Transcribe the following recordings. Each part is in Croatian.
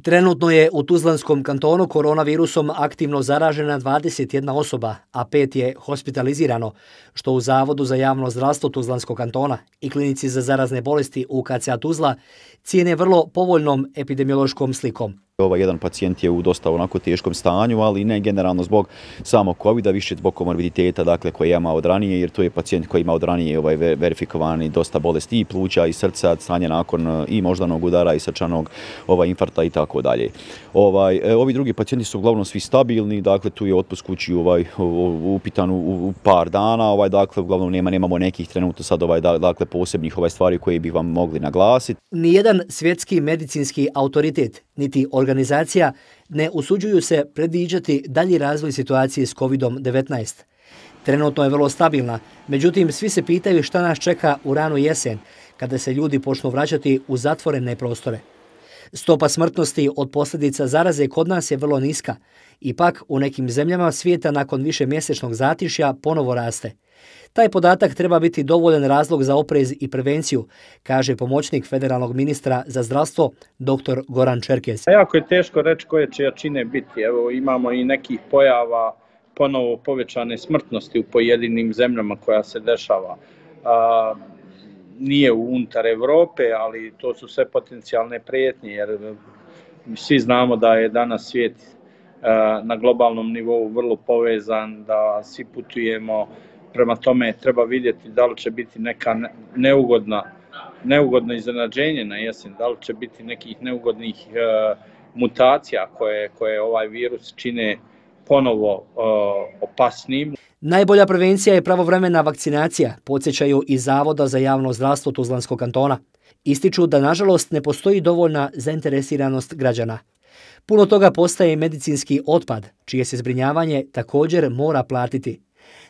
Trenutno je u Tuzlanskom kantonu koronavirusom aktivno zaražena 21 osoba, a 5 je hospitalizirano, što u Zavodu za javno zdravstvo Tuzlanskog kantona i Klinici za zarazne bolesti UKCA Tuzla cijene vrlo povoljnom epidemiološkom slikom. Ovaj jedan pacijent je u dosta onako teškom stanju, ali ne generalno zbog samog covida, više zbog komorbiditeta dakle, koje ima od ranije, jer to je pacijent koji ima od ranije verifikovani dosta bolesti i pluća i srca, stanje nakon i moždanog udara i srčanog infarkta i tako dalje. Ovi drugi pacijenti su uglavnom svi stabilni, dakle tu je otpust kući upitan u par dana, dakle uglavnom nemamo nekih trenutno sad dakle posebnih stvari koje bi vam mogli naglasiti. Nijedan svjetski medicinski autoritet niti organizacija ne usuđuju se predviđati dalji razvoj situacije s COVID-19. Trenutno je vrlo stabilna, međutim svi se pitaju šta nas čeka u ranu jesen, kada se ljudi počnu vraćati u zatvorene prostore. Stopa smrtnosti od posljedica zaraze kod nas je vrlo niska. Ipak u nekim zemljama svijeta nakon višemjesečnog zatišja ponovo raste. Taj podatak treba biti dovoljan razlog za oprez i prevenciju, kaže pomoćnik federalnog ministra za zdravstvo dr. Goran Čerkez. Jako je teško reći koje će jačine biti. Evo, imamo i nekih pojava ponovo povećane smrtnosti u pojedinim zemljama koja se dešava. Nije unutar Evrope, ali to su sve potencijalne prijetnje, jer svi znamo da je danas svijet na globalnom nivou vrlo povezan, da svi putujemo, prema tome treba vidjeti da li će biti neka neugodno iznenađenje na jesen, da li će biti nekih neugodnih mutacija koje ovaj virus čine ponovo opasnijim. Najbolja prevencija je pravovremena vakcinacija, podsjećaju iz Zavoda za javno zdravstvo Tuzlanskog kantona. Ističu da nažalost ne postoji dovoljna zainteresiranost građana. Puno toga postaje medicinski otpad, čije se zbrinjavanje također mora platiti.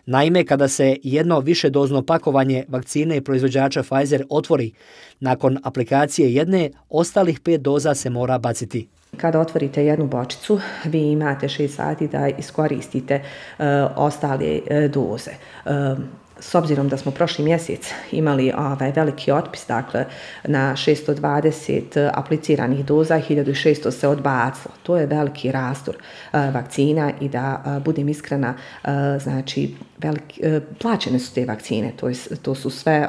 Naime, kada se jedno višedozno pakovanje vakcine proizvođača Pfizer otvori, nakon aplikacije jedne, ostalih 5 doza se mora baciti. Kada otvorite jednu bočicu, vi imate 6 sati da iskoristite ostale doze. S obzirom da smo prošli mjesec imali veliki otpis, dakle na 620 apliciranih doza, 1600 se odbacilo. To je veliki rastor vakcina i da budem iskrena, znači plaćene su te vakcine, to su sve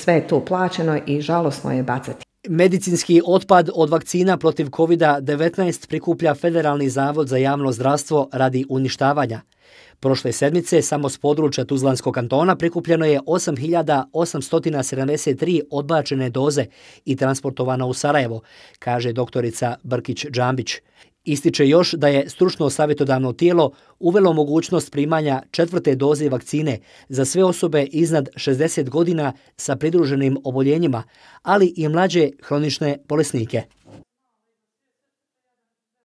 je to plaćeno i žalosno je bacati. Medicinski otpad od vakcina protiv COVID-19 prikuplja Federalni zavod za javno zdravstvo radi uništavanja. Prošle sedmice samo s područja Tuzlanskog kantona prikupljeno je 8.873 odbačene doze i transportovano u Sarajevo, kaže doktorica Brkić-Džambić. Ističe još da je stručno savjetodavno tijelo uvelo mogućnost primanja 4. doze vakcine za sve osobe iznad 60 godina sa pridruženim oboljenjima, ali i mlađe hronične bolesnike.